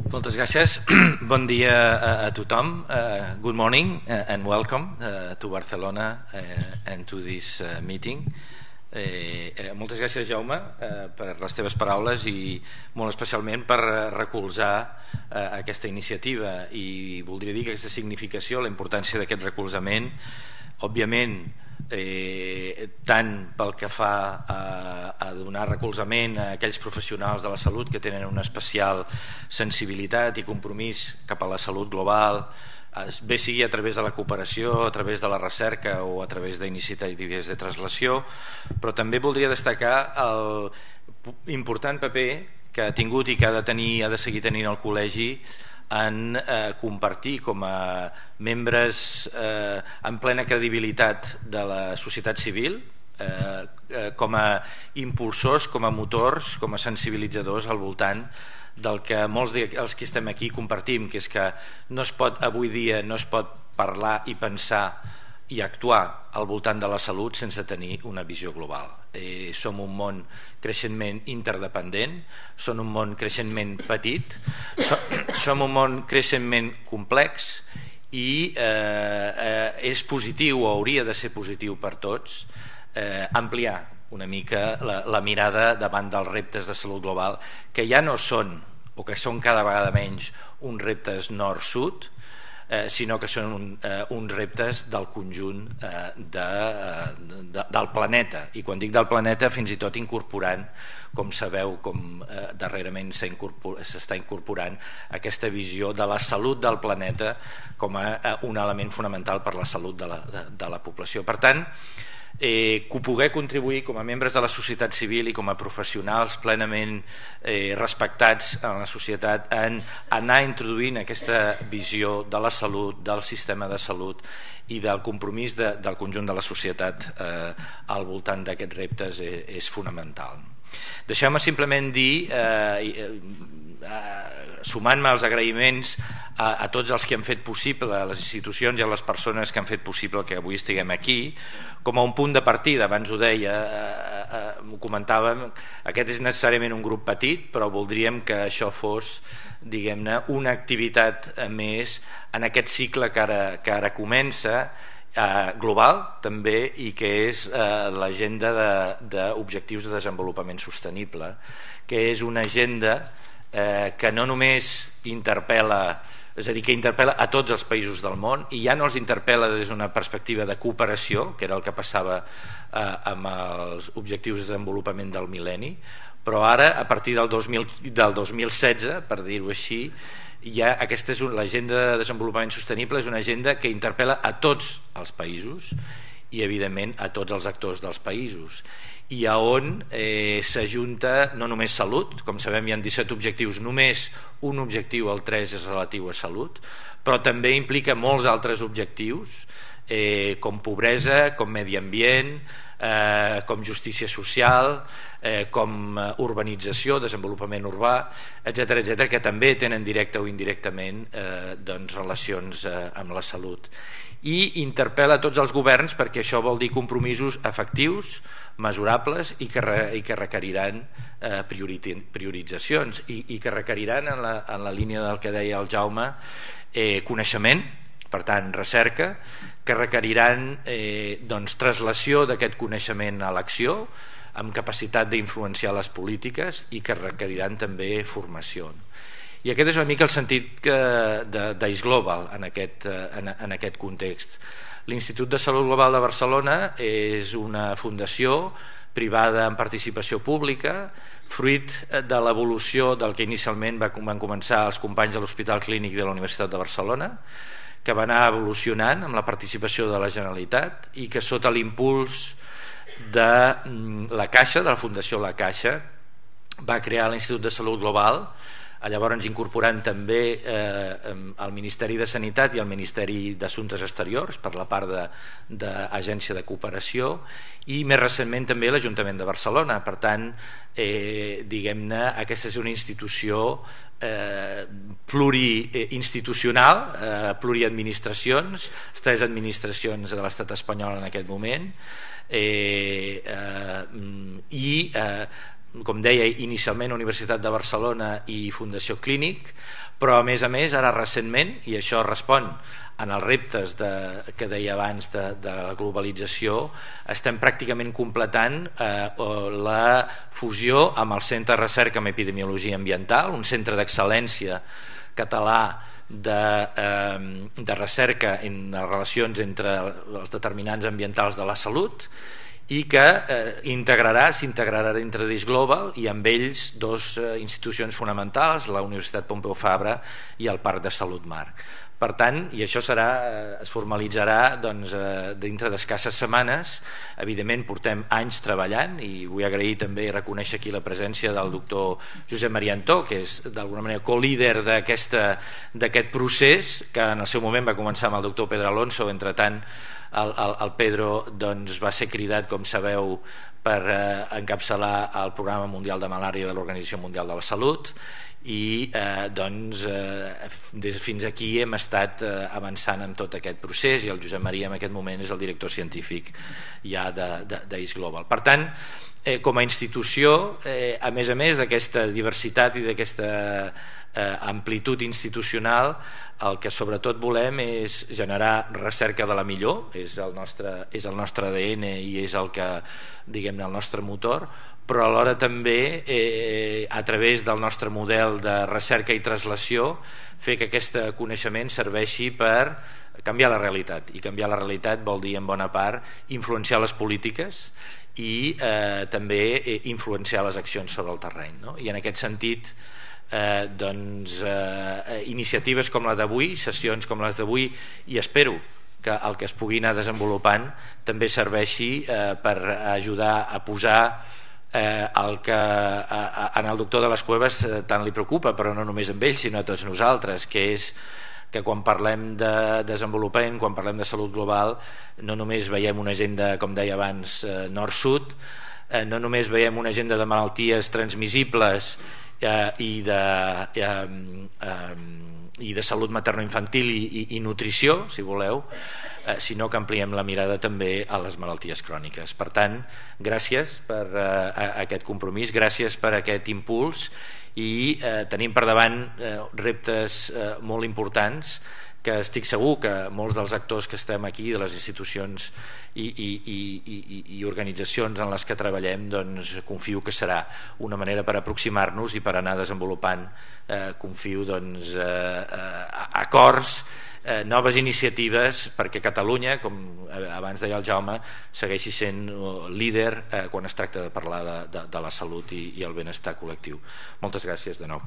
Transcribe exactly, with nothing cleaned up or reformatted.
Moltes gràcies. Bon dia a, a tothom. Uh, good morning uh, and welcome uh, to Barcelona uh, and to this uh, meeting. Eh, eh, moltes gràcies, Jaume, eh, per les teves paraules i molt especialment per recolzar eh, aquesta iniciativa, i voldria dir que aquesta significació, la importància d'aquest recolzament, òbviament, eh, tant pel que fa a, a donar recolzament a aquells professionals de la salut que tenen una especial sensibilitat i compromís cap a la salut global, bé sigui a través de la cooperació, a través de la recerca o a través d'iniciatives de translació, però també voldria destacar el important paper que ha tingut i que ha de tenir, ha de seguir tenint el col·legi en eh, compartir com a membres eh, en plena credibilitat de la societat civil, eh, eh, com a impulsors, com a motors, com a sensibilitzadors al voltant del que molts dels que estem aquí compartim, que és que no es pot, avui dia no es pot parlar i pensar i actuar al voltant de la salut sense tenir una visió global. Eh, som un món creixentment interdependent, som un món creixentment petit, som, som un món creixentment complex i eh, eh, és positiu, o hauria de ser positiu per tots, eh, ampliar una mica la, la mirada davant dels reptes de salut global, que ja no són, o que són cada vegada menys, uns reptes nord-sud, eh, sinó que són un, eh, uns reptes del conjunt eh, de, de, del planeta. I quan dic del planeta, fins i tot incorporant, com sabeu, com eh, darrerament s'està incorporant aquesta visió de la salut del planeta com a eh, un element fonamental per la salut de la, de, de la població. Per tant, Eh, que poder contribuir com a membres de la societat civil i com a professionals plenament eh, respectats en la societat en anar introduint aquesta visió de la salut, del sistema de salut i del compromís de, del conjunt de la societat eh, al voltant d'aquests reptes és, és fonamental. Deixeu-me simplement dir, eh, eh, sumant-me als agraïments a, a tots els que han fet possible, a les institucions i a les persones que han fet possible que avui estiguem aquí, com a un punt de partida. Abans ho deia, eh, eh, ho comentàvem, aquest és necessàriament un grup petit, però voldríem que això fos, diguem-ne, una activitat més en aquest cicle que ara, que ara comença, eh, global també, i que és eh, l'agenda d'objectius de, de desenvolupament sostenible, que és una agenda eh, que no només interpel·la, és a dir, que interpel·la a tots els països del món, i ja no els interpel·la des d'una perspectiva de cooperació, que era el que passava eh, amb els objectius de desenvolupament del mil·lenni, però ara, a partir del dos mil, del dos mil setze, per dir-ho així, ja aquesta és l'agenda de desenvolupament sostenible, és una agenda que interpel·la a tots els països i, evidentment, a tots els actors dels països, i a on eh, s'ajunta no només salut. Com sabem, hi ha disset objectius, només un objectiu, el tres, és relatiu a salut, però també implica molts altres objectius, eh, com pobresa, com medi ambient, eh, com justícia social, eh, com urbanització, desenvolupament urbà, etcètera, etcètera, que també tenen directe o indirectament eh, doncs, relacions eh, amb la salut. I interpel·la a tots els governs, perquè això vol dir compromisos efectius, mesurables, i que, re, i que requeriran eh, prioritzacions i, i que requeriran, en la, en la línia del que deia el Jaume, eh, coneixement, per tant recerca, que requeriran eh, doncs, translació d'aquest coneixement a l'acció, amb capacitat d'influenciar les polítiques, i que requeriran també formació. I aquest és una mica el sentit d'Ice Global en aquest, en, en aquest context. L'Institut de Salut Global de Barcelona és una fundació privada amb participació pública, fruit de l'evolució del que inicialment van començar els companys de l'Hospital Clínic de la Universitat de Barcelona, que va anar evolucionant amb la participació de la Generalitat i que, sota l'impuls de la Caixa, de la Fundació La Caixa, va crear l'Institut de Salut Global, llavors incorporant també eh, el Ministeri de Sanitat i el Ministeri d'Assumptes Exteriors per la part d'Agència de, de Cooperació, i més recentment també l'Ajuntament de Barcelona. Per tant, eh, diguem-ne, aquesta és una institució eh, pluriinstitucional, eh, pluriadministracions, tres administracions de l'estat espanyol en aquest moment, eh, eh, i eh, com deia inicialment, Universitat de Barcelona i Fundació Clínic, però a més a més ara recentment, i això respon en els reptes de, que deia abans de, de la globalització, estem pràcticament completant eh, la fusió amb el Centre de Recerca en Epidemiologia Ambiental, un centre d'excel·lència català de, eh, de recerca en les relacions entre els determinants ambientals de la salut, i que eh, integrarà, s'integrarà dintre d'Eix Global, i amb ells dos eh, institucions fonamentals, la Universitat Pompeu Fabra i el Parc de Salut Mar. Per tant, i això serà, es formalitzarà doncs, eh, dintre d'escasses setmanes. Evidentment portem anys treballant, i vull agrair també i reconèixer aquí la presència del doctor Josep Maria Antó, que és d'alguna manera co-líder d'aquest procés, que en el seu moment va començar amb el doctor Pedro Alonso. Entre tant, el, el, el Pedro doncs, va ser cridat, com sabeu, per eh, encapçalar el Programa Mundial de Malària de l'Organització Mundial de la Salut, i eh, doncs eh, des, fins aquí hem estat eh, avançant en tot aquest procés, i el Josep Maria en aquest moment és el director científic ja d'Eix Global. Per tant, eh, com a institució, eh, a més a més d'aquesta diversitat i d'aquesta eh, amplitud institucional, el que sobretot volem és generar recerca de la millor, és el nostre, és el nostre A D N i és el que, diguem-ne, el nostre motor, però alhora també eh, a través del nostre model de recerca i translació fer que aquest coneixement serveixi per canviar la realitat, i canviar la realitat vol dir en bona part influenciar les polítiques i eh, també eh, influenciar les accions sobre el terreny, no? I en aquest sentit eh, doncs, eh, iniciatives com la d'avui, sessions com les d'avui, i espero que el que es pugui anar desenvolupant també serveixi eh, per ajudar a posar Eh, el que a, a, en el doctor de les Cuevas eh, tant li preocupa, però no només amb ell sinó a tots nosaltres, que és que quan parlem de desenvolupament, quan parlem de salut global, no només veiem una agenda, com deia abans, eh, nord-sud, eh, no només veiem una agenda de malalties transmissibles eh, i de eh, eh, i de salut materno-infantil i, i, i nutrició, si voleu, eh, sinó que ampliem la mirada també a les malalties cròniques. Per tant, gràcies per eh, aquest compromís, gràcies per aquest impuls, i eh, tenim per davant eh, reptes eh, molt importants que estic segur que molts dels actors que estem aquí, de les institucions i, i, i, i, i organitzacions en les que treballem, doncs confio que serà una manera per aproximar-nos i per anar desenvolupant, eh, confio, doncs, eh, eh, acords, eh, noves iniciatives perquè Catalunya, com abans deia el Jaume, segueixi sent líder eh, quan es tracta de parlar de, de, de la salut i, i el benestar col·lectiu. Moltes gràcies de nou.